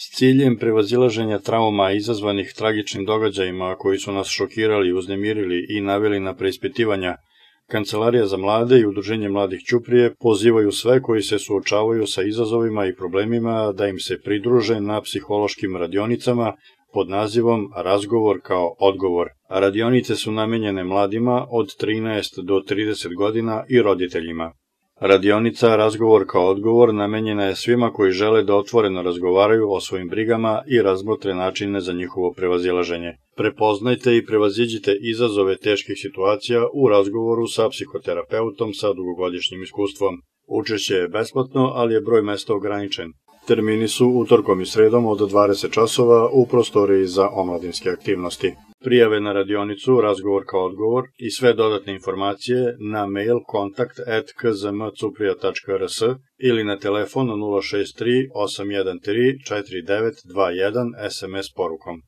S ciljem prevazilaženja trauma izazvanih tragičnim događajima koji su nas šokirali, uznemirili i naveli na preispitivanja, Kancelarija za mlade i Udruženje mladih Ćuprije pozivaju sve koji se suočavaju sa izazovima i problemima da im se pridruže na psihološkim radionicama pod nazivom Razgovor kao odgovor. Radionice su namenjene mladima od 13 do 30 godina i roditeljima. Radionica Razgovor kao odgovor namenjena je svima koji žele da otvoreno razgovaraju o svojim brigama i razmotre načine za njihovo prevazilaženje. Prepoznajte i prevaziđite izazove teških situacija u razgovoru sa psihoterapeutom sa dugogodišnjim iskustvom. Učešće je besplatno, ali je broj mesta ograničen. Termini su utorkom i sredom od 20 časova u prostoriji za omladinske aktivnosti. Prijave na radionicu Razgovor kao odgovor i sve dodatne informacije na mail kontakt@kzmcuprija.rs ili na telefon 063 813 4921 SMS porukom.